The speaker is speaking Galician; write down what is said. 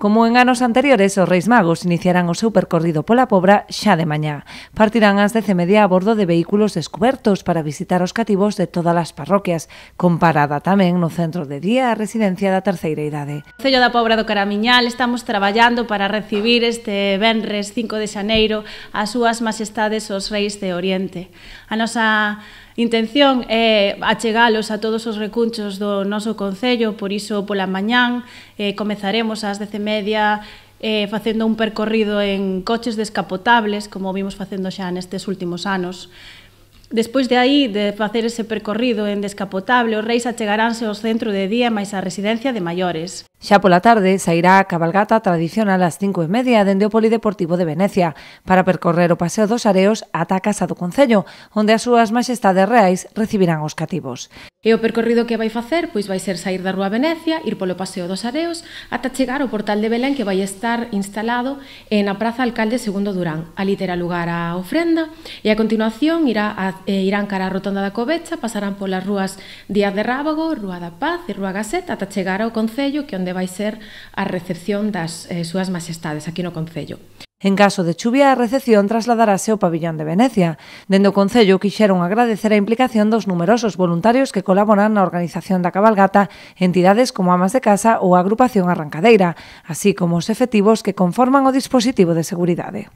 Como en anos anteriores, os Reis Magos iniciarán o seu percorrido pola Pobra xa de mañá. Partirán ás 10:30 a bordo de vehículos descubertos para visitar os cativos de todas as parroquias, con parada tamén no centro de día a residencia da terceira idade. No Concello da Pobra do Caramiñal estamos traballando para recibir este venres 5 de xaneiro as súas majestades os Reis de Oriente. A nosa intención é achegalos a todos os recunchos do noso concello, por iso pola mañán comezaremos ás 10:30 facendo un percorrido en coches descapotables, como vimos facendo xa nestes últimos anos. Despois de aí, de facer ese percorrido en descapotable, os reis achegaránse ao centro de día máis a residencia de maiores. Xa pola tarde sairá a cabalgata tradicional ás 5:30 dende o Polideportivo de Venecia para percorrer o Paseo dos Areos ata a Casa do Concello, onde as súas majestades reais recibirán os cativos. E o percorrido que vai facer pois vai ser sair da Rúa Venecia, ir polo Paseo dos Areos, ata chegar ao Portal de Belén que vai estar instalado na Praza Alcalde II Durán. Ali terá lugar a ofrenda e a continuación irán cara a Rotonda da Covecha, pasarán polas rúas Díaz de Rábago, Rúa da Paz e Rúa Gasset ata chegar ao Concello, que onde vai ser a recepción das súas majestades aquí no Concello. En caso de chuvia, a recepción trasladarase ao pabillón de Venecia. Dende o Concello quixeron agradecer a implicación dos numerosos voluntarios que colaboran na organización da cabalgata, entidades como Amas de Casa ou a agrupación Arrancadeira, así como os efectivos que conforman o dispositivo de seguridade.